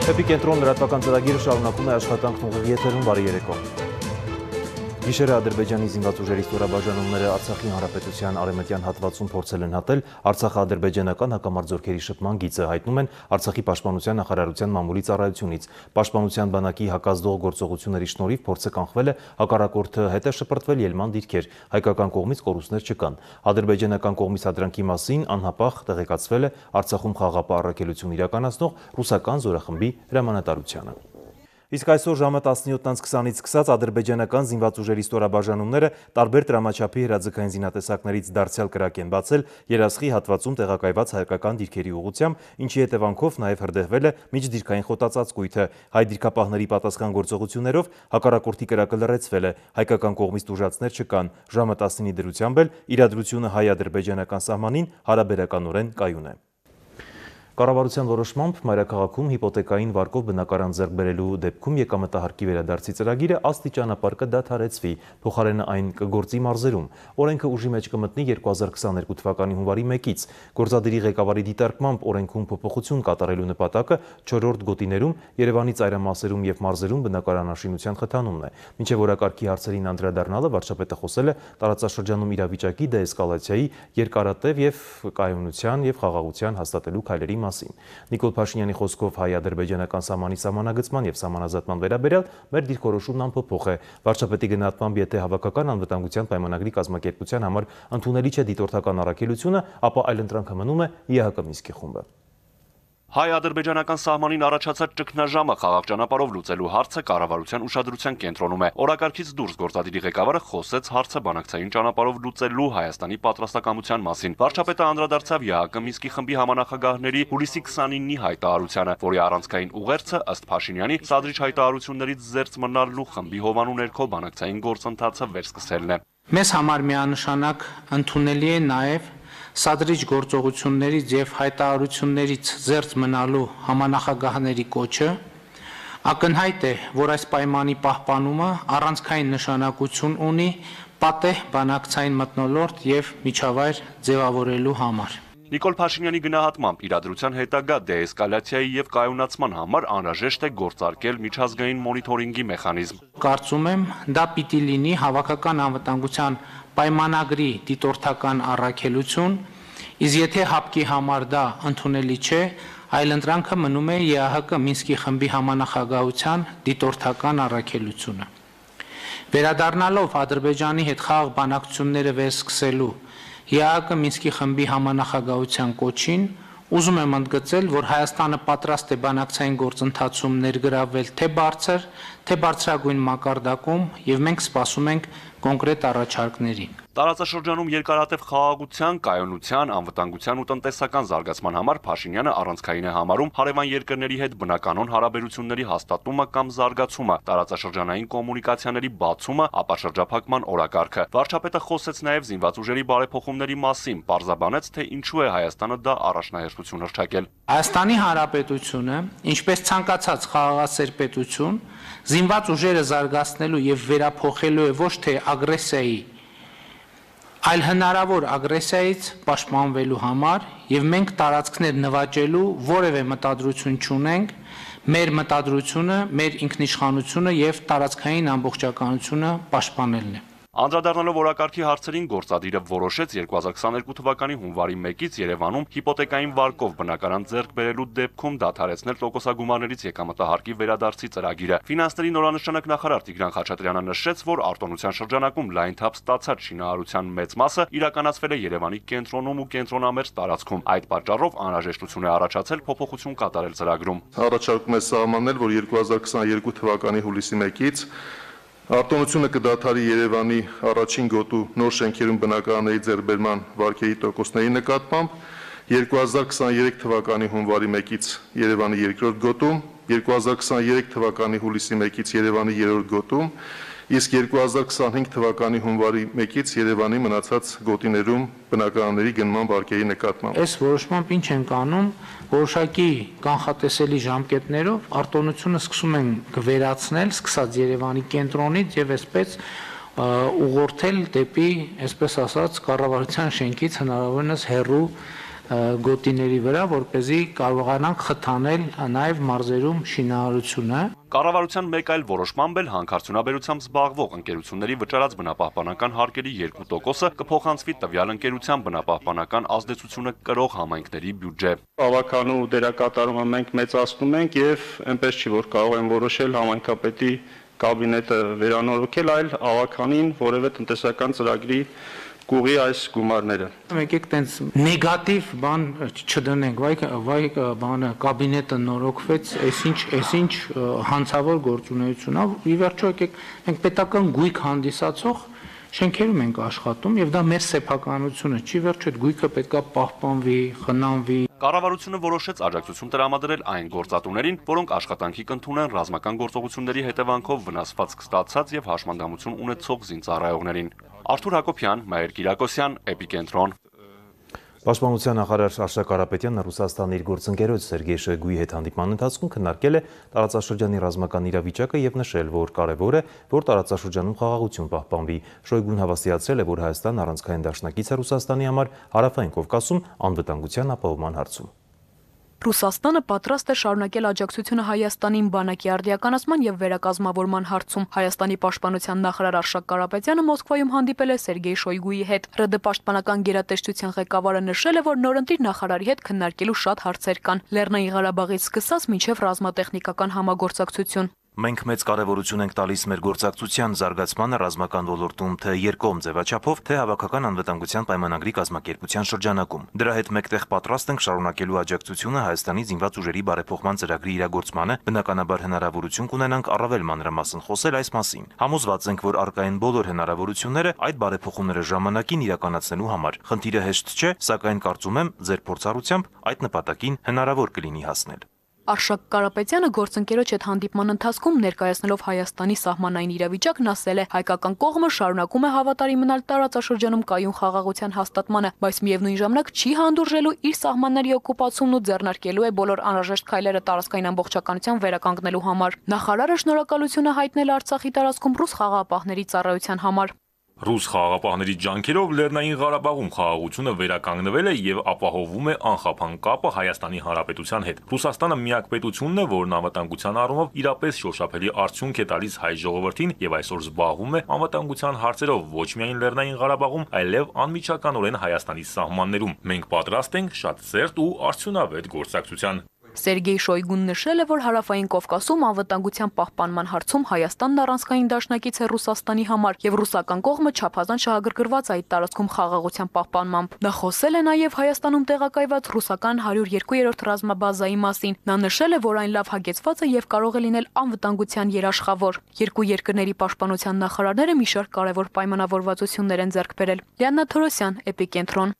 Էպիկենտրոն լրատվական ծրագիրը շարունակում է աշխատանքն ուղիղ եթերում բարի երեկո։ Գիշերը Ադրբեջանի զինված ուժերի ստորաբաժանումները Արցախի հանրապետության արևմտյան հատվածում փորձել են հատել արցախա-ադրբեջանական հակամարտությունների շփման գիծը, հայտնում են Արցախի պաշտպանության նախարարության մամուլի ծառայությունից։ Պաշտպանության բանակի հակազդող գործողությունների շնորհիվ փորձը կանխվել է, հակառակորդը հետ է շպրտվել ելման դիրքեր, հայկական կողմից կորուստներ չկան։ Ադրբեջանական կողմից հադրանքի մասին անհապաղ տեղեկացվել է Արցախում խաղաղապահ առաքելություն իրականացնող ռուսական զորախմբի հրամանատարությանը։ Իսկ այսօր ժամը 17:20-ից սկսած ադրբեջանական զինված ուժերի ստորաբաժանումները տարբեր տրամաչափի հրաձգային զինատեսակներից դարձյալ կրակ են բացել Երասխի հատվածում տեղակայված հայկական դիրքերի ուղղությամբ, ինչի հետևանքով նաև հրդեհվել է միջդիրքային խոտածածկույթը։ Հայ դիրքապահների պատասխան գործողություններով հակառակորդի կրակը լռեցվել է, հայկական կողմից տուժածներ չկան։ Ժամը 19-ի դրությամբ էլ իրադրությունը հայ-ադրբեջանական սահմանին հարաբերականորեն կայուն է։ Կառավարության որոշմամբ մայրաքաղաքում հիպոթեկային վարկով բնակարան ձեռք բերելու դեպքում եկամտահարկի վերադարձի ծրագիրը աստիճանաբար կդադարեցվի, փոխարենը այն կգործի մարզերում։ Օրենքը ուժի մեջ կմտնի 2022 թվականի հունվարի 1-ից։ Գործադիրի ղեկավարի դիտարկմամբ օրենքում փոփոխություն կատարելու նպատակը 4-րդ գոտիներում, Երևանի ծայրամասերում եւ մարզերում բնակարանաշինության խթանումն է։ Մինչեւ օրակարգի հարցերին անդրադառնալը վարչապետը խոսել է տարածաշրջանում իրավիճակի դեէսկալացիայի, երկարատև եւ կայունության եւ խաղաղության հաստատելու քայլերի մասին։ Նիկոլ Փաշինյանի խոսքով հայ-ադրբեջանական սահմանի սահմանագծման եւ սահմանազատման վերաբերյալ մեր դիրքորոշումն անփոփոխ է։ Վարչապետի գնահատմամբ, եթե հավաքական անվտանգության պայմանագրի կազմակերպության համար ընդունելի չէ դիտորդական առաքելությունը, ապա այլընտրանքը մնում է ԵՀԿ Մինսկի խումբը։ Հայ-ադրբեջանական սահմանին առաջացած ճգնաժամը խաղաղ ճանապարհով լուծելու հարցը կառավարության ուշադրության կենտրոնում է։ Օրակարգից դուրս գործադիրի ղեկավարը խոսեց հարցը բանակցային ճանապարհով լուծելու Հայաստանի պատրաստակամության մասին։ Վարչապետը անդրադարձավ ԵՀԿ Մինսկի խմբի համանախագահների հուլիսի 29-ի հայտարարությանը, որի առանցքային ուղերձը ըստ Փաշինյանի սադրիչ հայտարարություններից զերծ մնալու խմբի հովանու ներքո բանակցային գործընթացը վերսկսելն է։ Մեզ համար միանշանակ ընդունելի է նաև սադրիչ գործողություններից եւ հայտարարություններից զերծ մնալու համանախագահների կոչը, ակնհայտ է, որ այս պայմանի պահպանումը առանցքային նշանակություն ունի պատեհ բանակցային մթնոլորտ եւ միջավայր ձևավորելու համար։ Նիկոլ Փաշինյանի գնահատմամբ իրադրության հետագա դեէսկալացիայի եւ կայունացման համար անհրաժեշտ է գործարկել միջազգային մոնիթորինգի մեխանիզմ։ Կարծում եմ, դա պիտի լինի հավաքական անվտանգության պայմանագրի դիտորդական առաքելություն, իսկ եթե հապկի համար դա ընդունելի չէ, այլընտրանքը մնում է ԵԱՀԿ Մինսկի խմբի համանախագահության դիտորդական առաքելությունը։ Վերադառնալով Ադրբեջանի հետ խաղաղ բանակցությունները վերսկսելու ԵԱՀԿ Մինսկի խմբի համանախագահության կոչին, ուզում եմ ընդգծել, որ Հայաստանը պատրաստ է բանակցային գործընթացում ներգրավվել թե բարձր, թե բարձրագույն մակարդակում, եւ մենք սպասում ենք կոնկրետ առաջարկների։ Տարածաշրջանում երկարատև խաղաղության, կայունության, անվտանգության ու տնտեսական զարգացման համար Փաշինյանը առանցքային է համարում հարևան երկրների հետ բնականոն հարաբերությունների հաստատումը կամ զարգացումը, տարածաշրջանային կոմունիկացիաների բացումը, ապա շրջափակման օրակարգը։ Վարչապետը խոսեց նաև զինված ուժերի բարեփոխումների մասին, պարզաբանեց, թե ինչու է Հայաստանը դա առաջնահերթություն հռչակել։ Հայաստանի Հանրապետությունը, ինչպես ցանկացած խաղաղասեր պետություն, զինված ուժերը զարգացնելու եւ վերափոխելու է ոչ թե ագրեսիայի, այլ հնարավոր ագրեսիայից պաշտպանվելու համար, եւ մենք տարածքներ նվաճելու որևէ մտադրություն չունենք, մեր մտադրությունը, մեր ինքնիշխանությունը եւ տարածքային ամբողջականությունը պաշտպանելն է։ Անդրադառնալով օրակարգի հարցերին գործադիրը որոշեց 2022 թվականի հունվարի 1-ից Երևանում հիպոթեկային վարկով բնակարան ձեռք բերելու դեպքում դադարեցնել տոկոսագումարներից եկամտահարկի վերադարձի ծրագիրը։ Ֆինանսների նորանշանակ նախարար Տիգրան Խաչատրյանը նշեց, որ արտոնության շրջանակում լայն թափ ստացած շինարարության մեծ մասը իրականացվել է Երևանի կենտրոնում ու կենտրոնամերձ տարածքում։ Այդ պատճառով անհրաժեշտություն է առաջացել փոփոխություն կատարել ծրագրում։ Առաջարկում է սահմանել, որ 2022 թվականի հուլիսի 1-ից արտոնությունը կդադարի Երևանի առաջին գոտու նոր շենքերում բնակարանների ձեռքբերման վարկերի տոկոսների նկատմամբ, 2023 թվականի հունվարի 1-ից Երևանի երկրորդ գոտում, 2023 թվականի հուլիսի 1-ից Երևանի երրորդ գոտում, իսկ 2025 թվականի հունվարի 1-ից Երևանի մնացած գոտիներում բնակարանների գնման վարկերի նկատմամբ։ Այս որոշմամբ ինչ ենք անում, որոշակի կանխատեսելի ժամկետներով արտոնությունը սկսում են վերացնել, սկսած Երևանի կենտրոնից եւ այսպես ուղղորդել դեպի, այսպես ասած, կառավարության շենքից հնարավորինս հեռու գոտիների վրա, որպեսզի կարողանանք խթանել նաև մարզերում շինարարությունը։ Կառավարության մեկ այլ որոշմամբ էլ հանքարդյունաբերությամբ զբաղվող ընկերությունների վճարած բնապահպանական հարկերի 2%-ը կփոխանցվի տվյալ ընկերության բնապահպանական ազդեցությունը կրող համայնքների բյուջե։ Ավականու դերակատարումը մենք մեծացնում ենք եւ այնպես չի, որ կարող են որոշել համայնքապետի կաբինետը վերանորոգել, այլ ավականին որևէ տնտեսական ծրագրի կուղի այս գումարները։ Եկեք տենց նեգատիվ բան չդնենք, վայ բանը կաբինետը նորոգվեց, այսինչ հանցավոր գործունեություն, ի վերջո եկեք մենք պետական գույք հանդիսացող շենքերում ենք աշխատում եւ դա մեր սեփականությունը չի, վերջո այդ գույքը պետքա պահպանվի, խնամվի։ Կառավարությունը որոշեց աջակցություն տրամադրել այն գործատուներին, որոնք աշխատանքի կընդունեն ռազմական գործողությունների հետևանքով վնասվածք ստացած եւ հաշմանդամություն ունեցող զինծառայողներին։ Արթուր Հակոբյան, Մայր Կիրակոսյան, Էպիկենտրոն։ Պաշտպանության նախարար Արշակ Կարապետյանը Ռուսաստանի իր գործընկերոջ Սերգեյ Շոյգուի հետ հանդիպման ընթացքում քննարկել է տարածաշրջանի ռազմական իրավիճակը եւ նշել, որ կարեւոր է, որ տարածաշրջանում խաղաղություն պահպանվի։ Շոյգուն հավաստիացրել է, որ Հայաստան առանցքային դաշնակից է Ռուսաստանի համար հարավային Կովկասում անվտանգության ապահովման հարցում։ Ռուսաստանը պատրաստ է շարունակել աջակցությունը Հայաստանին բանակի արդիականացման եւ վերակազմավորման հարցում։ Հայաստանի պաշտպանության նախարար Արշակ Կարապետյանը Մոսկվայում հանդիպել է Սերգեյ Շոյգուի հետ։ ՌԴ պաշտպանական գերատեսչության ղեկավարը նշել է, որ նորընտիր նախարարի հետ քննարկելու շատ հարցեր կան, Լեռնային Ղարաբաղից սկսած մինչև ռազմատեխնիկական համագործակցություն։ Մենք մեծ կարևորություն ենք տալիս մեր գործակցության զարգացմանը ռազմական ոլորտում թե երկկողմ ձևաչափով, թե հավաքական անվտանգության պայմանագրի կազմակերպության շրջանակում։ Դրա հետ մեկտեղ պատրաստ ենք շարունակելու աջակցությունը Հայաստանի զինված ուժերի բարեփոխման ծրագրի իրագործմանը, բնականաբար հնարավորություն կունենանք առավել մանրամասն խոսել այս մասին։ Համոզված ենք, որ առկային բոլոր հնարավորությունները այդ բարեփոխումները ժամանակին իրականացնելու համար։ Խնդիրը հեշտ չէ, սակայն կարծում եմ, ձեր փորձառությամբ այդ նպատակին հնարավոր կլինի հասնել։ Արշակ Կարապետյանը գործընկերոջ հետ հանդիպման ընթացքում ներկայացնելով Հայաստանի սահմանային իրավիճակն ասել է, հայկական կողմը շարունակում է հավատարիմ մնալ տարածաշրջանում կայուն խաղաղության հաստատմանը, բայց միևնույն ժամանակ չի հանդուրժելու իր սահմանների օկուպացումն ու ձեռնարկելու է բոլոր անհրաժեշտ քայլերը տարածքային ամբողջականության վերականգնելու համար։ Նախարարը շնորհակալություն է հայտնել Արցախի տարածքում ռուս խաղաղապահների ծառայության համար։ Ռուս խաղաղապահների ջանքերով Լեռնային Ղարաբաղում խաղաղությունը վերականգնվել է եւ ապահովում է անխափան կապը Հայաստանի Հանրապետության հետ։ Ռուսաստանը միակ պետությունն է, որն անվտանգության առումով իրապես շոշափելի արդյունք է տալիս հայ ժողովրդին եւ այսօր զբաղվում է անվտանգության հարցերով ոչ միայն Լեռնային Ղարաբաղում, այլև անմիջականորեն Հայաստանի սահմաններում։ Մենք պատրաստ ենք շատ սերտ ու արդյունավետ գործակցության։ Սերգեյ Շոյգուն նշել է, որ հարավային Կովկասում անվտանգության պահպանման հարցում Հայաստանն առանցքային դաշնակից է Ռուսաստանի համար եւ ռուսական կողմը չափազանց շահագրգռված այդ տարածքում խաղաղության պահպանմամբ։ Նա խոսել է նաեւ Հայաստանում տեղակայված ռուսական 102-րդ ռազմաբազայի մասին։ Նա նշել է, որ այն լավ հագեցված է եւ կարող է լինել անվտանգության երաշխավոր։ Երկու երկրների պաշտպանության նախարարները մի շարք կարևոր պայմանավորվածություններ են ձեռք բերել։ Լիաննա Թորոսյան, Էպիկենտրոն։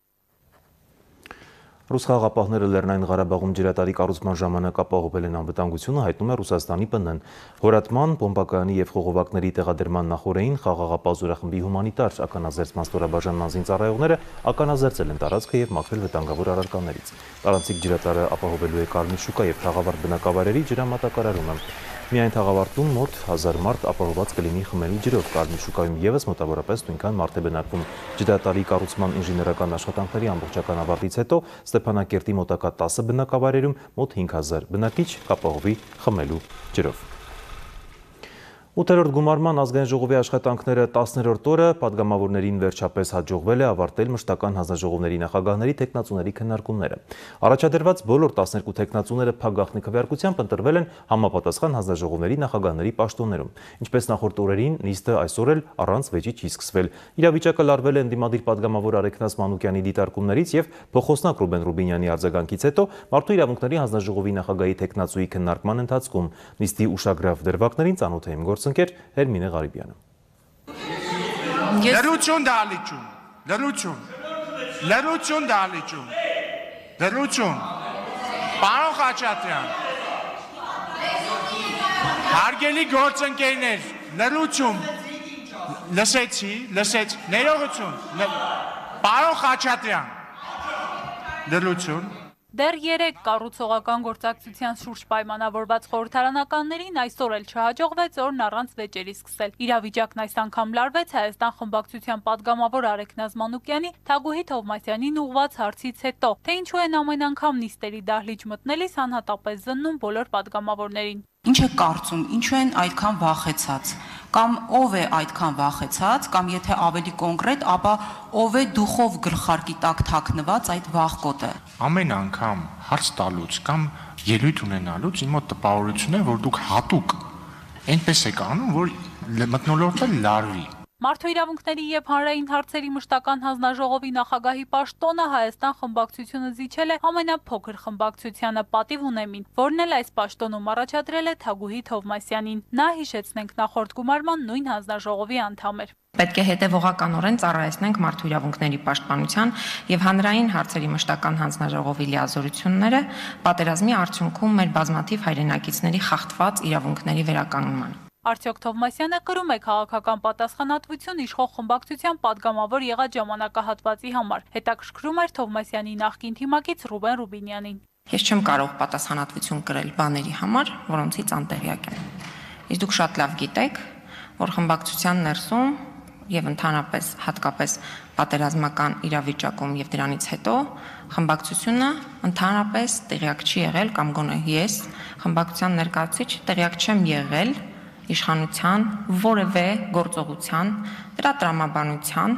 Ռուս խաղաղապահները Լեռնային Ղարաբաղում ջրատարի կառուցման ժամանակ ապահովել են անվտանգությունը, հայտնում է Ռուսաստանի ՊՆ-ն։ Հորատման, բոմբակայանի եւ խողովակների տեղադրման նախօրեին խաղաղապահ զորախմբի հումանիտար ականազերծման ստորաբաժանման զինծառայողները ականազերծել են տարածքը եւ մաքրել վտանգավոր առարկաներից։ Տարանցիկ ջրատարը ապահովելու է Կարմիր շուկա եւ Խաղավարտ բնակավայրերի ջրամատակարարումը։ Միայն Խաղավարտում մոտ 1000 մարդ ապահովված կլինի խմելու ջրով, Կարմիր շուկայում եւս մոտավորապես նույնքան մարդ է բնակվում։ Ջրատարի կառուցման ինժեներական աշխատանքների ամբողջական ավարտից հետո Ստեփանակերտի մոտակա 10 բնակավայրերում մոտ 5000 բնակիչ կապահովի խմելու ջրով։ 8-րդ գումարման ազգային ժողովի աշխատանքները 10-րդ օրը падգամավորներին վերջապես հաջողվել է ավարտել մշտական հանձնաժողովների նախագահների թեկնածուների քննարկումները։ Առաջադրված բոլոր 12 թեկնածուները փակ քվեարկությամբ ընտրվել են համապատասխան հանձնաժողովների նախագահների պաշտոններում։ Ինչպես նախորդ օրերին, նիստը այսօր էլ առանց վեճի չի սկսվել։ Իրավիճակը լարվել է ընդդիմադիր падգամավոր Արեգնաս Մանուկյանի դիտարկումներից եւ փոխոսնակ Ռուբեն Ռուբինյանի արձագանքից հետո Մարդու իրավունքների հանձնաժողովի նախագահի թեկնածուի քննարկման ընթացքում նիստի ուշագրավ դրվագներին ծանոթ էին գործընկեր Հերմինե Ղարիբյանը։ Լրություն դալիճում, լրություն դալիճում, լրություն, պարոն Խաչատրյան, հարգելի գործընկերներ, լրություն, լսեցի, ներողություն, պարոն Խաչատրյան, լրություն, Դեռ 3 կառուցողական գործակցության շուրջ պայմանավորված խորհրդարանականներին այսօր էլ չհաջողվեց օրն առանց վեճերի սկսել։ Իրավիճակն այս անգամ լարվեց Հայաստան խմբակցության падգամավոր Արեգնազ Մանուկյանի Թագուհի Թովմասյանին ուղղված հարցից հետո, թե ինչու են ամեն անգամ նիստերի դահլիճ մտնելիս անհատապես զննում բոլոր падգամավորներին։ Ինչ է կարծում, ինչու են այդքան վախեցած, կամ ով է այդքան վախեցած, կամ եթե ավելի կոնկրետ, ապա ով է դուխով գլխարկի տակ թաքնված այդ վախկոտը։ Ամեն անգամ հարց տալուց կամ ելույթ ունենալուց իմ մոտ տպավորություն է, որ դուք հատուկ այնպես եք անում, որ մթնոլորտը լարվի։ Մարդու իրավունքների եւ հանրային հարցերի մշտական հանձնաժողովի նախագահի պաշտոնը Հայաստան խմբակցությունը զիջել է ամենափոքր խմբակցությանը Պատիվ Ունեմին, որն էլ այս պաշտոնում առաջադրել է Թագուհի Թովմասյանին։ Նա, հիշեցնենք, նախորդ գումարման նույն հանձնաժողովի անդամ էր։ Պետք է հետևողականորեն ծառայեցնենք մարդու իրավունքների պաշտպանության եւ հանրային հարցերի մշտական հանձնաժողովի լիազորությունները պատերազմի արդյունքում մեր բազմաթիվ հայրենակիցների խախտված իրավունքների վերականգնման։ Արդյոք Թովմասյանը կրում է քաղաքական պատասխանատվություն իշխող խմբակցության падգամավոր եղած ժամանակահատվածի համար։ Հետաքրքրում էր Թովմասյանի նախկին թիմակից Ռուբեն Ռուբինյանին։ Ես չեմ կարող պատասխանատվություն կրել բաների համար, որոնցից անտեղյակ եմ։ Իսկ դուք շատ լավ գիտեք, որ խմբակցության ներսում եւ ընդհանրապես հատկապես պատերազմական իրավիճակում եւ դրանից հետո խմբակցությունը ընդհանրապես տեղյակ չի եղել կամ գոնե ես խմբակցության ներկայացուցիչ տեղյակ չեմ եղել իշխանության որևէ գործողության, դրա տրամաբանության,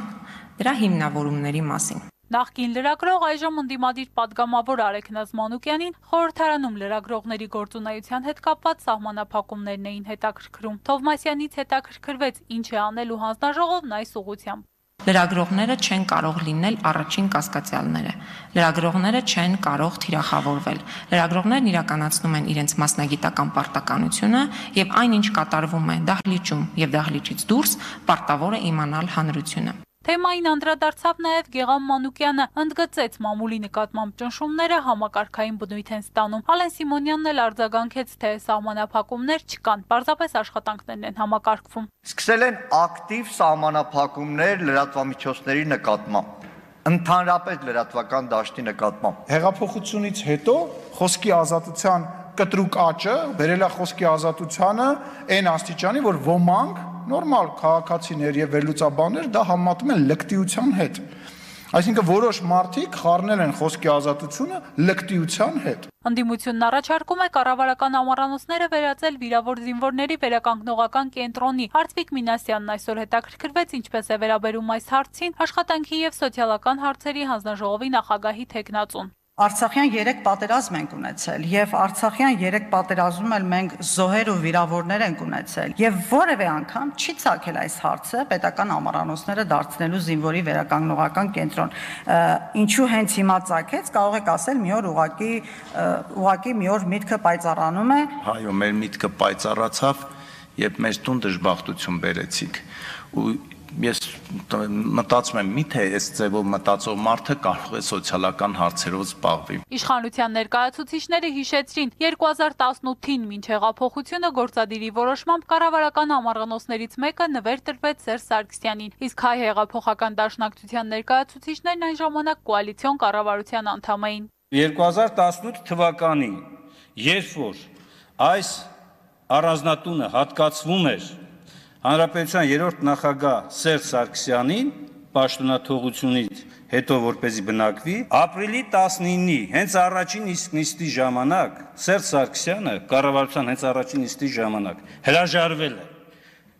դրա հիմնավորումների մասին։ Նախկին լրագրող այժմ ընդդիմադիր падգամավոր Արեգնազ Մանուկյանին խորհրդարանում լրագրողների գործունեության հետ կապված սահմանափակումներն էին հետաքրքրում։ Թովմասյանից հետաքրքրվեց ինչ է անելու հանձնաժողովն այս ուղղությամբ։ Լրագրողները չեն կարող լինել առաջին կասկածյալները։ Լրագրողները չեն կարող թիրախավորվել։ Լրագրողներն իրականացնում են իրենց մասնագիտական պարտականությունը եւ այնինչ կատարվում է դահլիճում եւ դահլիճից դուրս պարտավոր է իմանալ հանրությունը։ Թեմային անդրադարձավ նաև Գեգամ Մանուկյանը, ընդգծեց մամուլի նկատմամբ ճնշումները համակարգային բնույթ են ստանում։ Ալեն Սիմոնյանն էլ արձագանքեց, թե սահմանափակումներ չկան, պարզապես աշխատանքներն են համակարգվում։ Սկսել են ակտիվ սահմանափակումներ լրատվամիջոցների նկատմամբ, ընդհանրապես լրատվական դաշտի նկատմամբ։ Հեղափոխությունից հետո խոսքի ազատության կտրուկ աճը բերել է խոսքի ազատությանը այն աստիճանի, որ ոմանք նորմալ քաղաքացիներ եւ վերլուծաբաններ դա համատում են լկտիության հետ։ Այսինքն որոշ մարդիկ խառնել են խոսքի ազատությունը լկտիության հետ։ Ընդդիմությունն առաջարկում է կառավարական ամառանոցները վերածել վիրավոր զինվորների վերականգնողական կենտրոնի։ Արծվիկ Մինասյանն այսօր հետաքրքրվեց ինչպես է վերաբերում այս հարցին աշխատանքի եւ սոցիալական հարցերի հանձնաժողովի նախագահի թեկնածուն։ Արցախյան 3 պատերազմ ենք ունեցել եւ Արցախյան 3 պատերազմում էլ մենք զոհեր ու վիրավորներ ենք ունեցել եւ որևէ անգամ չի ցակել այս հարցը պետական ամառանոցները դարձնելու զինվորի վերականգնողական կենտրոն։ Ինչու հենց հիմա ցակեց, կարող եք ասել մի օր ուղղակի մի օր միտքը պայծառանում է։ Այո, մեր միտքը պայծառացավ, երբ մեզ տուն դժբախտություն բերեցիք ու ես մտածում եմ, միթե այս ձևով մտածող մարդը կարող է սոցիալական հարցերով զբաղվի։ Իշխանության ներկայացուցիչները հիշեցրին 2018-ին մինչ հեղափոխությունը գործադիրի որոշմամբ կառավարական ամառանոցներից մեկը նվեր տրվեց Սերժ Սարգսյանին, իսկ հայ հեղափոխական դաշնակցության ներկայացուցիչներն այն ժամանակ կոալիցիոն կառավարության անդամ էին։ 2018 թվականին, երբ որ այս առանձնատունը հատկացվում էր Հանրապետության երրորդ նախագահ Սերժ Սարգսյանին պաշտոնաթողությունից հետո որպեսզի բնակվի, ապրիլի 19-ի հենց առաջին նիստի ժամանակ Սերժ Սարգսյանը կառավարության հենց առաջին նիստի ժամանակ հրաժարվել է։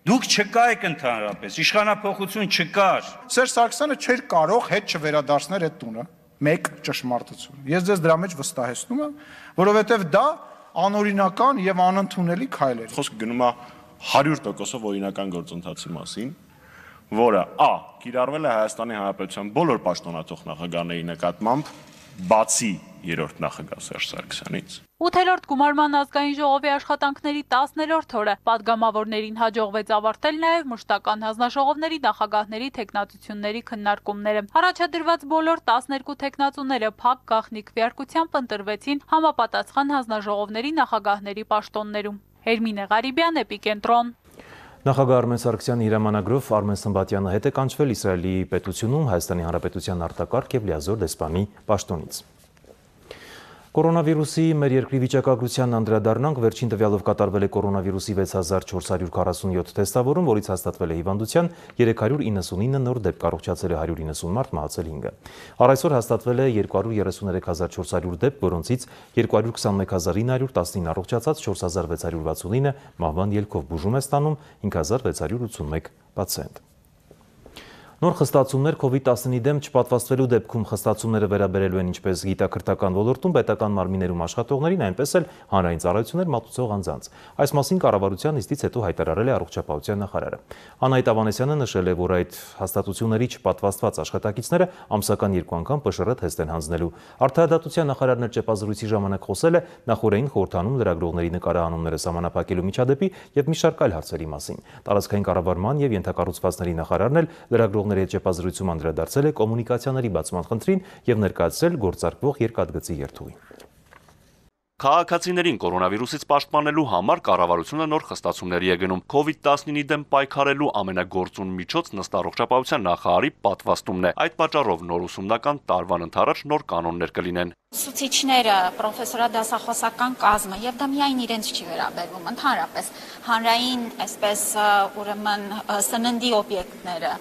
Դուք չկայք ընդհանրապես, իշխանափոխություն չկար։ Սերժ Սարգսյանը չէր կարող հետ չվերադարձնել այդ տունը։ Մեկ ճշմարտություն։ Ես ձեզ դրա մեջ վստահեցնում եմ, որովհետև դա անօրինական եւ անընդունելի քայլ էր։ Խոսքը գնում է 100%-ով օրինական գործընթացի մասին, որը կիրառվել է Հայաստանի Հանրապետության բոլոր պաշտոնաթող նախագահների նկատմամբ, բացի երրորդ նախագահ Սերժ Սարգսյանից։ 8-րդ գումարման ազգային ժողովի աշխատանքների 10-րդ օրը падգամավորներին հաջողվեց ավարտել նաև մշտական հանձնաժողովների նախագահների թեկնածությունների քննարկումները։ Առաջադրված բոլոր 12 թեկնածուները փակ գաղտնի քվեարկությամբ ընտրվեցին համապատասխան հանձնաժողովների նախագահների պաշտոններում։ Հերմինե Ղարիբյան, Էպիկենտրոն։ Նախագահ Արմեն Սարգսյանի հրամանագրով Արմեն Սմբատյանը հետ է կանչվել Իսրայելի պետությունում Հայաստանի Հանրապետության արտակարգ և լիազոր դեսպանի պաշտոնից։ Կորոնավիրուսի մեր երկրի վիճակագրությանն անդրադառնանք, վերջին տվյալով կատարվել է կորոնավիրուսի 6447 թեստավորում, որից հաստատվել է հիվանդության 399 նոր դեպք, առողջացել է 190 մարդ, մահացել 5-ը։ Առայսօր հաստատվել է 233400 դեպք, որոնցից 221919 առողջացած, 4669 մահվան ելքով բուժում է ստանում, 5681 պացիենտ։ Նոր խստացումներ COVID-19 դեմ չպատվաստվելու դեպքում խստացումները վերաբերելու են ինչպես գիտակրթական ոլորտում, պետական մարմիններում աշխատողներին, այնպես էլ հանրային ծառայություններ մատուցող անձանց։ Այս մասին կառավարության նիստից հետո հայտարարել է առողջապահության նախարարը։ Անահիտ Ավանեսյանը նշել է, որ այդ հաստատությունների չպատվաստված աշխատակիցները ամսական 2 անգամ ՊՇՌ թեստ են հանձնելու։ Արդարադատության նախարարն էլ ճեպազրույցի ժամանակ խոսել է նախորդային խորհրդանում լրագրողների նկարահանումները սահմանափակելու միջադեպի եւ մի շարք այլ հարցերի մասին։ Տարածքային կառավարման եւ ենթակառուցվածքների նախարարն էլ լրագրողների հետ ճեպազրույցում անդրադարձել է կոմունիկացիաների բացման խնդրին եւ ներկայացրել գործարկվող երկաթգծի երթուղին։ Քաղաքացիներին կորոնավիրուսից պաշտպանելու համար կառավարությունը նոր խստացումների է գնում։ COVID-19-ի դեմ պայքարելու ամենագործուն միջոց ըստ առողջապահության նախարարի պատվաստումն է։ Այդ պատճառով նոր ուսումնական տարվան ընթരാճ նոր կանոններ կլինեն։ Ուսուցիչները, պրոֆեսորադասախոսական կազմը եւ դա միայն իրենց չի վերաբերվում, ընդհանրապես հանրային, այսպես ուրեմն սննդի օբյեկտները,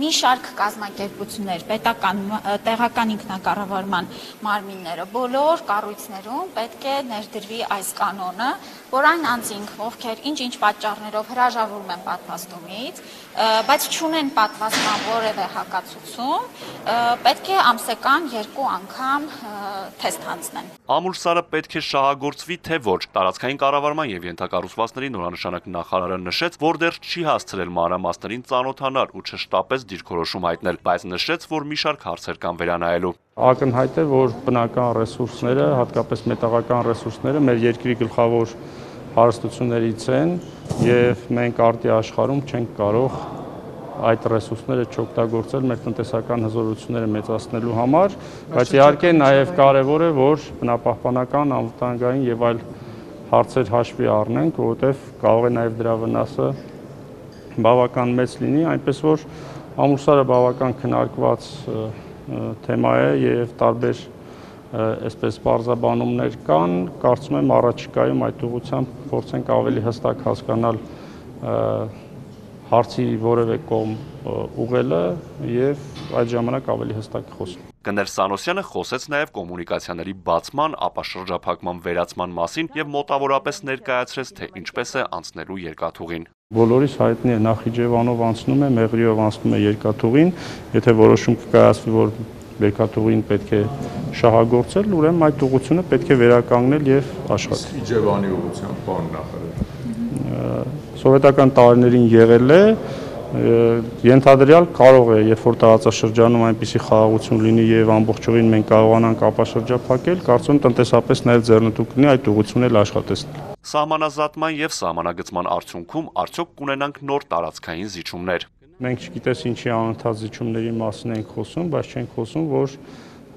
մի շարք կազմակերպություններ, պետական, տեղական ինքնակառավարման մարմինները, բոլոր կառույցներում պետք է ներդրվի այս կանոնը, որ այն անձինք, ովքեր ինչ-ինչ պատճառներով հրաժարվում են պատվաստումից, բայց չունեն պատվաստման որևէ հակացություն, պետք է ամսական 2 անգամ թեստ հանձնեն։ Ամուլսարը պետք է շահագործվի, թե ոչ։ Տարածքային կառավարման եւ ենթակառուցվածքների նորանշանակ նախարարը նշեց, որ դեռ չի հասցրել մանրամասներին ծանոթանալ ու չշտապես դիրքորոշում հայտնել, բայց նշեց, որ մի շարք հարցեր կան վերանայելու։ Ակնհայտ է, որ բնական ռեսուրսները, հատկապես մետաղական ռեսուրսները մեր երկրի գլխավոր հարստություններից են եւ մենք արտի աշխարհում չենք կարող այդ ռեսուրսները չօգտագործել մեր տնտեսական հզորությունները մեծացնելու համար, բայց իհարկե նաեւ կարեւոր է, որ բնապահպանական, անվտանգային եւ այլ հարցեր հաշվի առնենք, որովհետեւ կարող է նաեւ դրա վնասը բավական մեծ լինի, այնպես որ ամուսարը բավական քննարկված թեմա է եւ տարբեր այսպես բարձաբանումներ կան, կարծում եմ առաջիկայում այդ ուղղությամբ փորձենք ավելի հստակ հասկանալ հարցի որևէ կողմ ուղղելը եւ այդ ժամանակ ավելի հստակ խոսել։ Գներ Սանոսյանը խոսեց նաև կոմունիկացիաների բացման, ապա շրջափակման վերացման մասին եւ մոտավորապես ներկայացրեց, թե ինչպես է անցնելու երկաթուղին։ Բոլորիս հայտնի է Նախիջևանով անցնում է, Մեղրիով անցնում է երկաթուղին, եթե որոշում կկայացվի, որ երկաթուղին պետք է շահագործել, ուրեմն այդ ուղղությունը պետք է վերականգնել եւ աշխատել։ Իջևանի ուղղությամբ բան նախարար։ Սովետական տարիներին եղել է, ենթադրյալ կարող է, երբ որ տարածաշրջանում այնպիսի խաղաղություն լինի եւ ամբողջովին մենք կարողանանք ապաշրջափակել, կարծում եմ տնտեսապես նաեւ ձեռնտու կլինի այդ ուղղությունն էլ աշխատեցնել։ Սահմանազատման եւ սահմանագծման արդյունքում արդյոք կունենանք նոր տարածքային զիջումներ։ Մենք չգիտես ինչի անընդհատ զիջումների մասին ենք խոսում, բայց չենք խոսում, որ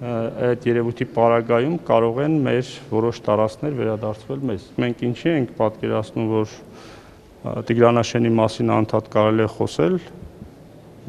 այդ երևույթի պարագայում կարող են մեր որոշ տարածքներ վերադարձվել մեզ։ Մենք ինչի ենք պատկերացնում, որ Տիգրանաշենի մասին անդադ կարելի է խոսել,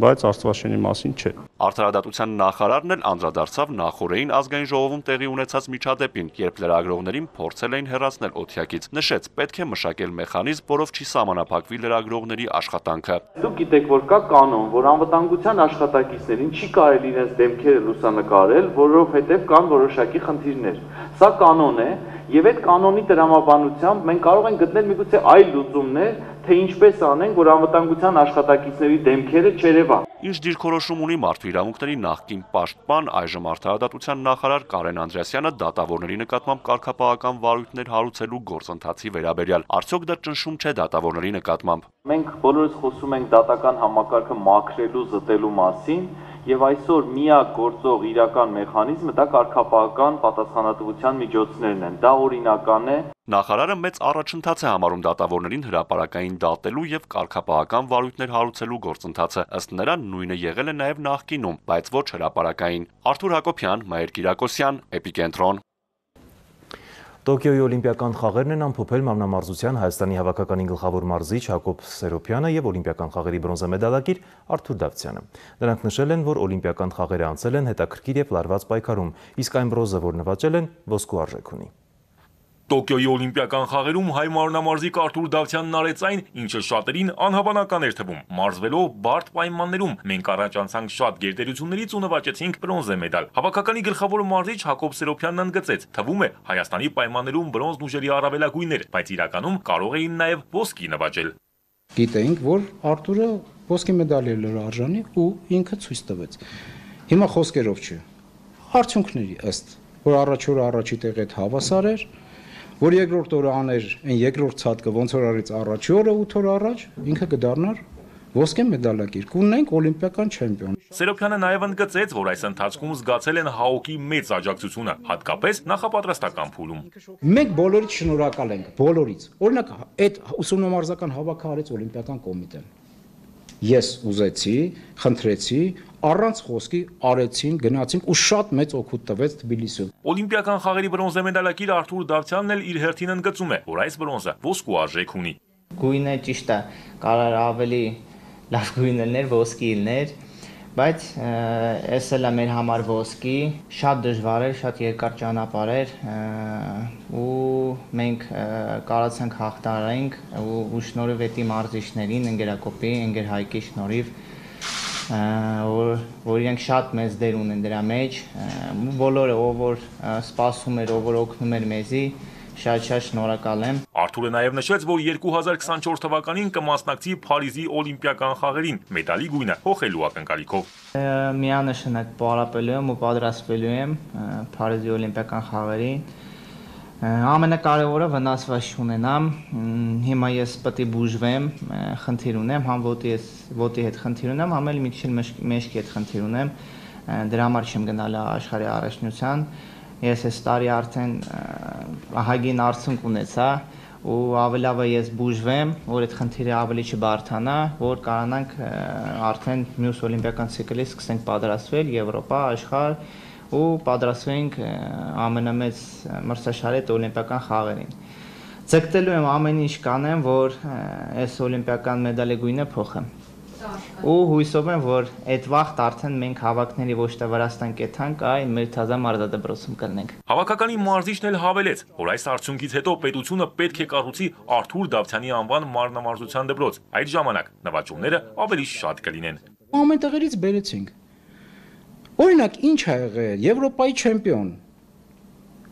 բայց Աստվածաշենի մասին չէ։ Արդարադատության նախարարն էլ անդրադարձավ նախորդային ազգային ժողովում տեղի ունեցած միջադեպին, երբ լրագրողներին փորձել էին հեռացնել օթյակից։ Նշեց, պետք է մշակել մեխանիզմ, որով չի սահմանափակվի լրագրողների աշխատանքը։ Դուք գիտեք, որ կա կանոն, որ անվտանգության աշխատակիցներին չի կարելի իրենց դեմքերը լուսանկարել, որովհետև կան որոշակի խնդիրներ։ Սա կանոն է, եւ այդ կանոնի տրամաբանությամբ մենք կարող ենք գտնել միգուցե այլ լուծումներ, թե ինչպես անենք, որ անվտանգության աշխատակիցների դեմքերը չերևան։ Ինչ դիրքորոշում ունի մարդու իրավունքների նախկին պաշտպան, այժմ արդարադատության նախարար Կարեն Անդրեասյանը դատավորների նկատմամբ կարգապահական վարույթներ հարուցելու գործընթացի վերաբերյալ։ Արդյոք դա ճնշում չէ դատավորների նկատմամբ։ Մենք բոլորս խոսում ենք դատական համակարգը մաքրելու, զտելու մասին, եւ այսօր միակ գործող իրական մեխանիզմը դա կարգապահական պատասխանատվության միջոցներն են։ Դա օրինական է։ Նախարարը մեծ առաջընթաց է համարում դատավորներին հրապարակային դատելու եւ կարգապահական վարույթներ հարուցելու գործընթացը։ Ըստ նրա նույնը եղել է նաեւ նախկինում, բայց ոչ հրապարակային։ Արթուր Հակոբյան, Մայր Կիրակոսյան, Էպիկենտրոն։ Տոկիոյի օլիմպիական խաղերն են ամփոփել մարմնամարզության Հայաստանի հավաքականի գլխավոր մարզիչ Հակոբ Սերոփյանը եւ օլիմպիական խաղերի բրոնզե մեդալակիր Արթուր Դավթյանը։ Նրանք նշել են, որ օլիմպիական խաղերը անցել են հետաքրքիր եւ լարված պայքարում, իսկ այն բրոնզը, որ նվաճել են, ոսկու արժեք ունի։ Տոկիոյի օլիմպիական խաղերում հայ մարմնամարզիկ Արթուր Դավթյանն արեց այն, ինչը շատերին անհավանական էր թվում։ Մարզվելով բարդ պայմաններում մենք առաջ անցանք շատ գերտերություններից ու նվաճեցինք բրոնզե մեդալ։ Հավաքականի գլխավոր մարզիչ Հակոբ Սերոփյանն ընդգծեց. թվում է Հայաստանի պայմաններում բրոնզն ուժերի առավելագույնն էր, բայց իրականում կարող էին նաև ոսկի նվաճել։ Գիտեինք, որ Արթուրը ոսկի մեդալի էր արժանի ու ինքը ցույց տվեց։ Հիմա խոսքերով չէ։ Արդյունքների ըստ, որ առաջ օրը առաջի տեղի հետ հավասար էր, որ երկրորդ օրը աներ այն երկրորդ ցածկը ոնց որ արեց առաջի օրը 8 օր առաջ, ինքը կդառնար ոսկե մեդալակիր, կունենանք օլիմպիական չեմպիոն։ Սերոփյանը նաև ընդգծեց, որ այս ընթացքում զգացել են ՀԱՕԿ-ի մեծ աջակցությունը, հատկապես նախապատրաստական փուլում։ Մենք բոլորից շնորհակալ ենք, բոլորից։ Օրինակ, այդ ուսումնամարզական հավաքը արեց օլիմպիական կոմիտեն։ Ես ուզեցի, խնդրեցի, առանց խոսքի արեցին, գնացինք ու շատ մեծ օգուտ տվեց Թբիլիսիում։ Օլիմպիական խաղերի բրոնզե մեդալակիր Արթուր Դավթյանն էլ իր հերթին ընդգծում է, որ այս բրոնզը ոսկու արժեք ունի։ Գույնը ճիշտ է, կարող ավելի լավ գույն լիներ, ոսկի լիներ, բայց այս էլ է մեր համար ոսկի, շատ դժվար էր, շատ երկար ճանապարհ էր ու մենք կարողացանք հաղթահարենք ու շնորհիվ էտի մարզիչներին, ընկերակոպի, ընկեր Հայկի շնորհիվ, որ իրենք շատ մեծ դեր ունեն դրա մեջ, բոլորը ով որ սպասում էր, ով որ օգնում էր մեզի, շատ շնորհակալ եմ։ Արթուրը նաև նշեց, որ 2024 թվականին կմասնակցի Փարիզի օլիմպիական խաղերին, մեդալի գույնը հոխելու ակնկալիքով։ Միանշանակ պարապելու եմ ու պատրաստվելու եմ Փարիզի օլիմպիական խաղերին։ Ամենակարևորը վնասված չունենամ, հիմա ես պետք է բուժվեմ, խնդիր ունեմ, համ ոտի հետ խնդիր ունեմ, համ էլ մի քիչ մեջքի հետ խնդիր ունեմ, դրա համար չեմ գնալ աշխարհի առաջնության, ես այս տարի արդեն ահագին արդյունք ունեցա ու ավելի լավ է ես բուժվեմ, որ այդ խնդիրը ավելի չբարթանա, որ կարողանանք արդեն մյուս օլիմպիական ցիկլից սկսենք պատրաստվել Եվրոպա, աշխարհ ու պատրաստվենք ամենամեծ մրցաշարի օլիմպիական խաղերին։ Ցկտելու եմ ամեն ինչ կանեմ, որ այս օլիմպիական մեդալի գույնը փոխեմ։ Ու հույսով եմ, որ այդ վաղտ արդեն մենք հավաքների ոչ թե Վրաստան կեթանք, այլ մեր թազա մարզադպրոցում կլինենք։ Հավաքականի մարզիչն էլ հավելեց, որ այս արդյունքից հետո պետությունը պետք է կառուցի Արթուր Դավթյանի անվան մարմնամարզության դպրոց։ Այդ ժամանակ նվաճումները ավելի շատ կլինեն։ Ամեն տեղերից բերեցինք։ Օրինակ, ինչ ա եղել Եվրոպայի չեմպիոն։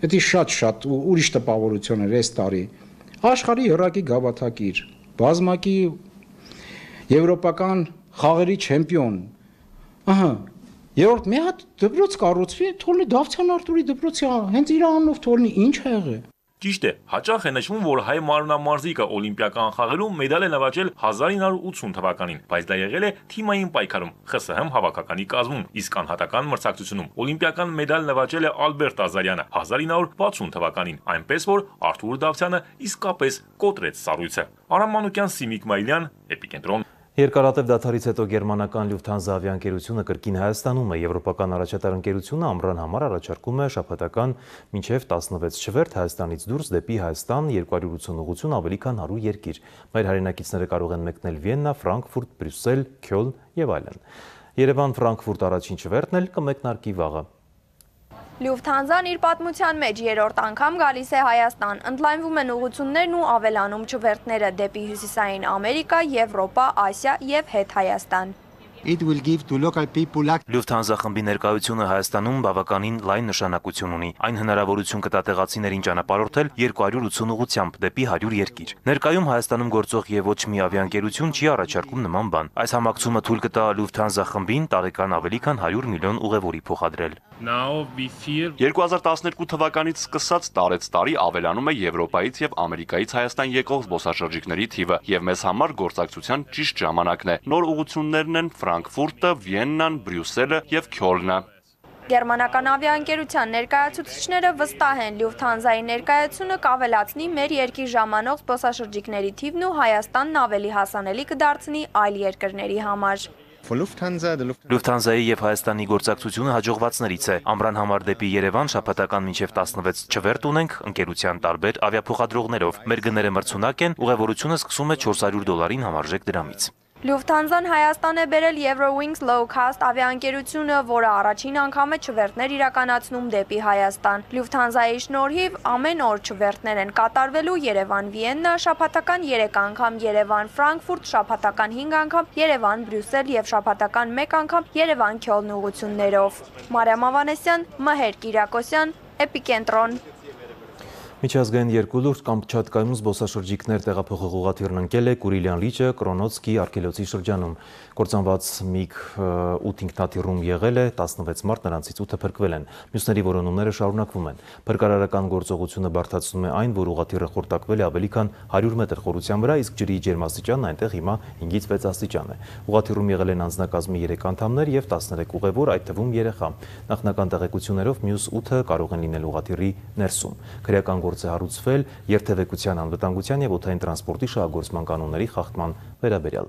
Դա շատ ուրիշ տպավորություն էր այս տարի։ Աշխարհի հեռակի գավաթակիր, բազմակի եվրոպական խաղերի չեմպիոն։ Ահա, երրորդ մի հատ դպրոց կառուցվի, թողնի Դավթյան Արթուրի դպրոցի, հենց իր անունով թողնի, ինչ ա եղել։ Ճիշտ է, հաճախ է նշվում, որ հայ մարմնամարզիկը օլիմպիական խաղերում մեդալ է նվաճել 1980 թվականին, բայց դա եղել է թիմային պայքարում ԽՍՀՄ հավաքականի կազմում, իսկ անհատական մրցակցությունում օլիմպիական մեդալ նվաճել է Ալբերտ Ազարյանը 1960 թվականին, այնպես որ Արթուր Դավթյանը իսկապես կոտրեց սառույցը։ Արամ Մանուկյան, Սիմիկ Մայլյան, Էպիկենտրոն։ Երկարատև դադարից հետո գերմանական Լյուֆթանզա ավիաընկերությունը կրկին Հայաստանում է։ Եվրոպական առաջատար ընկերությունը ամռան համար առաջարկում է շաբաթական մինչև 16 չվերթ Հայաստանից դուրս դեպի Հայաստան 280 ուղղություն ավելի քան 100 երկիր։ Մեր հայրենակիցները կարող են մեկնել Վիեննա, Ֆրանկֆուրտ, Բրյուսել, Քյոլն եւ այլն։ Երևան-Ֆրանկֆուրտ առաջին չվերթն էլ կմեկնարկի վաղը։ Լյուֆթանզան իր պատմության մեջ երրորդ անգամ գալիս է Հայաստան, ընդլայնվում են ուղղություններն ու ավելանում չվերթները դեպի Հյուսիսային Ամերիկա, Եվրոպա, Ասիա եւ հետ Հայաստան։ Լյուֆթանզա խմբի ներկայությունը Հայաստանում բավականին լայն նշանակություն ունի։ Այն հնարավորություն կտա տեղացիներին ճանապարհորդել 280 ուղղությամբ դեպի 100 երկիր։ Ներկայում Հայաստանում գործող եւ ոչ մի ավիաընկերություն չի առաջարկում նման բան։ Այս համակցումը թույլ կտա Լյուֆթանզա խմբին տարեկան ավելի քան 100 միլիոն ուղևորի փոխադրել։ 2012 թվականից սկսած տարեցտարի ավելանում է Եվրոպայից եւ Ամերիկայից Հայաստան եկող զբոսաշրջիկների թիվը եւ մեզ համար գործակցության ճիշտ ժամանակն է։ Նոր ուղղություններն են Ֆրանկֆուրտը, Վիեննան, Բրյուսելը եւ Քյոլնը։ Գերմանական ավիաընկերության ներկայացուցիչները վստահ են, Լյուֆթանզայի ներկայացումը կավելացնի մեր երկիր ժամանող զբոսաշրջիկների թիվն ու Հայաստանն ավելի հասանելի կդարձնի այլ երկրների համար։ Լուֆթանզայի եւ Հայաստանի գործակցությունը հաջողվածներից է։ Ամռան համար դեպի Երևան շաբաթական մինչև 16 չվերթ ունենք ընկերության տարբեր ավիափոխադրողներով։ Մեր գները մրցունակ են, ուղևորությունը սկսում է $400 համարժեք դրամից։ Լյուֆթանզան Հայաստան է բերել Eurowings Low Cost ավիաընկերությունը, որը առաջին անգամ է չվերթներ իրականացնում դեպի Հայաստան։ Լյուֆթանզայի շնորհիվ ամեն օր չվերթներ են կատարվելու Երևան-Վիեննա, շաբաթական 3 անգամ Երևան-Ֆրանկֆուրտ, շաբաթական 5 անգամ Երևան-Բրյուսել եւ շաբաթական 1 անգամ Երևան-Քյոլն ուղղություններով։ Մարիամ Ավանեսյան, Մհեր Կիրակոսյան, Էպիկենտրոն։ Միջազգային երկու լուրջ Կամչատկայում զբոսաշրջիկներ տեղափոխող ուղղաթիռն ընկել է Կուրիլյան լիճը Կրոնոցկի արգելոցի շրջանում։ Կործանված MiG 8 ինքնաթիռում եղել է 16 մարդ, նրանցից 8-ը փրկվել են։ Մյուսների որոնումները շարունակվում են։ Փրկարարական գործողությունը բարդացնում է այն, որ ուղղաթիռը խորտակվել է ավելի քան 100 մետր խորության վրա, իսկ ջրի ջերմաստիճանն այնտեղ հիմա 5-ից 6 աստիճան է։ Ուղղաթիռում եղել են անձնակազմի 3 անդամներ եւ 13 ուղևոր, այդ թվում երեխա։ Նախնական տեղեկություններով մյուս 8-ը կարող են լինել ուղղաթիռի ներսում։ Քրեական գործ է հարուցվել երթևեկության անվտանգության եւ օդային տրանսպորտի շահագործման կանոնների խախտման վերաբերյալ։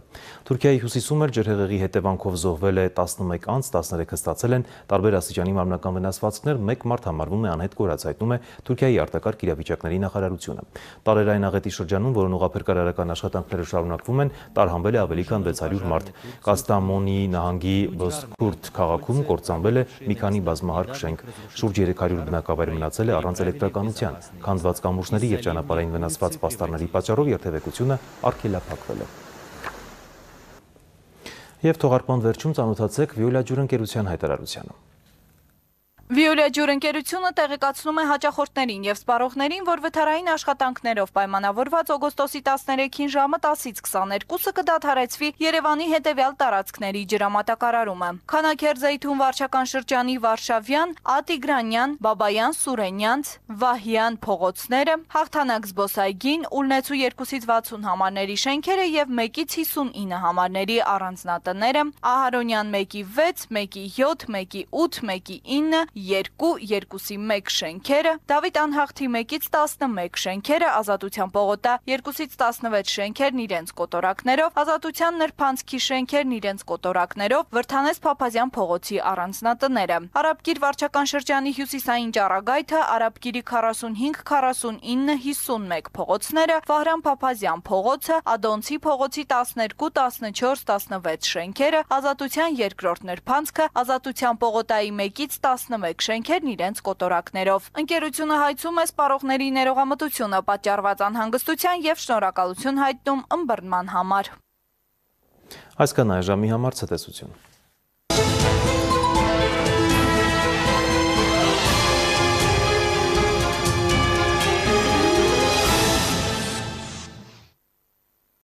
Թուրքիայի հյուսիսում էլ ջրհեղեղի հետևանքով զոհվել է 11 անձ, 13-ը ստացել են տարբեր աստիճանի մարմնական վնասվածքներ, 1 մարդ համարվում է անհետ կորած, հայտնում է Թուրքիայի արտակարգ իրավիճակների նախարարությունը։ Տարերային աղետի շրջանում, որոնց ուղղափրկարարական աշխատանքները շարունակվում են, տարհանվել է ավելի քան 600 մարդ։ Կաստամոնի նահանգի Բոսկուրտ քաղաքում կործանվել է մի քանի բազմահարկ շենք։ Շուրջ 300 բնակավայր մնացել է առանց էլեկտրականության։ Քանդված կամուրջների եւ ճանապարհային վնասված պաստառների պատճառով երթևեկությունը արգելափակվել է։ Եվ թողարկման վերջում ծանոթացեք Վիոլա ջուրընկերության հայտարարությանը։ Վիոլա ջուրընկերությունը տեղեկացնում է հաճախորդներին եւ սպառողներին, որ վթարային աշխատանքներով պայմանավորված օգոստոսի 13-ին ժամը 10-ից 22-ը կդադարեցվի Երևանի հետևյալ տարածքների ջրամատակարարումը։ Քանաքերձեյթուն վարչական շրջանի Վարշավյան, Ատիգրանյան, Բաբայան, Սուրենյանց, Վահյան փողոցները, Հաղթանակ զբոսայգին, Ուլնեցու 2-ից 60 համարների շենքերը եւ 1-ից 59 համարների առանձնատները, Ահարոնյան 1-ի 6, 1-ի 7, 1-ի 8, 1-ի 9 2-1 շենքերը, Դավիթ Անհախտի 1-ից 11 շենքերը, Ազատության պողոտա 2-ից 16 շենքերն իրենց կոտորակներով, Ազատության նրբանցքի շենքերն իրենց կոտորակներով, Վրթանես Փափազյան փողոցի առանձնատները, Արաբկիր վարչական շրջանի հյուսիսային ճառագայթը, Արաբկիրի 45, 49, 51 փողոցները, Վահրամ Փափազյան փողոցը, Ադոնցի փողոցի 12, 14, 16 շենքերը, Ազատության երկրորդ նրբանցքը, Ազատության պողոտայի 1-ից 11 շենքերն իրենց կոտորակներով։ Ընկերությունը հայցում է սպառողների ներողամտությունը պատճառված անհանգստության եւ շնորհակալություն հայտնում ըմբռնման համար։ Այսքան այժմի համար ցտեսություն։